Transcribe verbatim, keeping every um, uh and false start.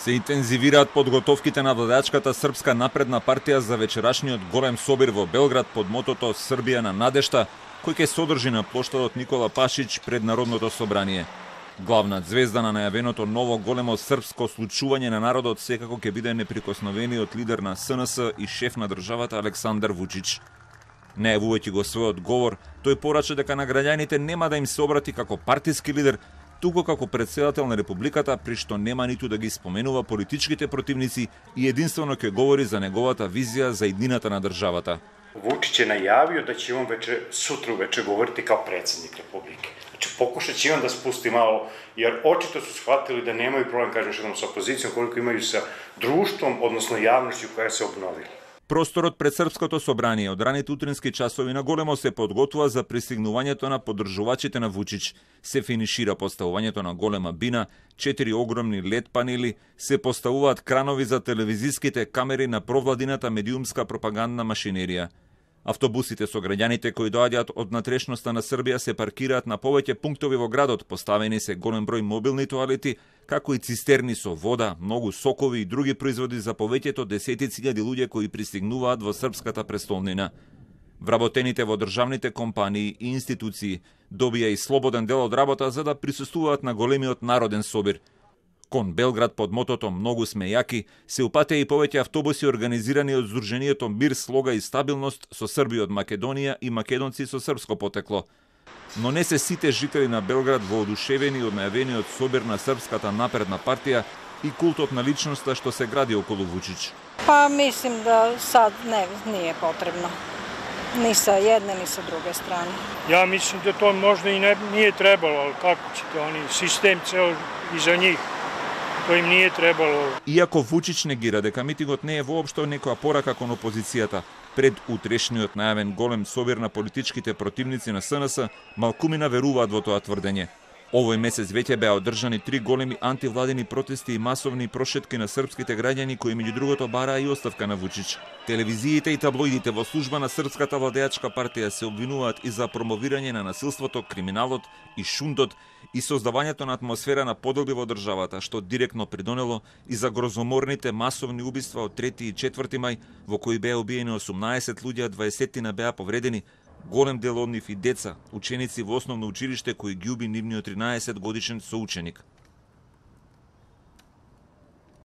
Се интензивираат подготовките на владеачката Српска напредна партија за вечерашниот голем собир во Белград под мотото Србија на надежта, кој ќе содржи на плоштадот Никола Пашич пред Народното собрание. Главна звезда на најавеното ново големо српско случување на народот секако ќе биде неприкосновениот лидер на С Н С и шеф на државата Александар Вучич. Најавувајќи го својот говор, тој порача дека на граѓаните нема да им се обрати како партиски лидер, туку како председател на републиката, при што нема ниту да ги споменува политичките противници и единствено ќе говори за неговата визија за иднината на државата. Вучич е најавио да ќе он вече сутра вече говорити као председник републике. Значи покушаće on da spusti malo, jer očito su shvatili da nemaju problem, kažem što sa opozicijom, koliko imaju sa društvom, odnosno javnošću koja se obnovi. Просторот пред Српското собрание од раните утрински часови на големо се подготвува за пристигнувањето на поддржувачите на Вучич. Се финишира поставувањето на голема бина, четири огромни лед панели, се поставуваат кранови за телевизиските камери на провладината медиумска пропагандна машинерија. Автобусите со граѓаните кои доаѓаат од натрешноста на Србија се паркираат на повеќе пунктови во градот, поставени се голем број мобилни тоалети, како и цистерни со вода, многу сокови и други производи за повеќето десетици илјади луѓе кои пристигнуваат во српската престолнина. Вработените во државните компании и институции добија и слободен дел од работа за да присуствуваат на големиот народен собир. Кон Белград под мотото "Многу сме јаки" се упатеа и повеќе автобуси организирани од Здруженијето Мир, слога и стабилност со Срби од Македонија и македонци со српско потекло. Но не се сите жители на Белград воодушевени од најавениот собир на Српската напредна партија и култот на личноста што се гради околу Вучич. Па мислим да сад не nije potrebno. Ni sa jedne, ni sa druge strane. Ja mislim da to možda i ne, nije trebalo, ali kako ćete oni, sistem ceo iza njih. To im nije trebalo. Иако Вучич негира дека митингот не е воопшто некоја порака кон опозицијата, пред утрешниот најавен голем собир на политичките противници на С Н С, малкумина веруваат во тоа тврдење. Овој месец веќе беа одржани три големи антивладини протести и масовни прошетки на српските граѓани кои меѓу другото бараа и оставка на Вучич. Телевизиите и таблоидите во служба на Српската владеачка партија се обвинуваат и за промовирање на насилството, криминалот и шундот и создавањето на атмосфера на поделби во државата, што директно придонело и за грозоморните масовни убиства од трети и четврти мај, во кои беа убиени осумнаесет луѓе, а дваесет беа повредени, голем дел од нив и деца, ученици во основно училиште кои ги уби нивниот тринаесет годишен соученик.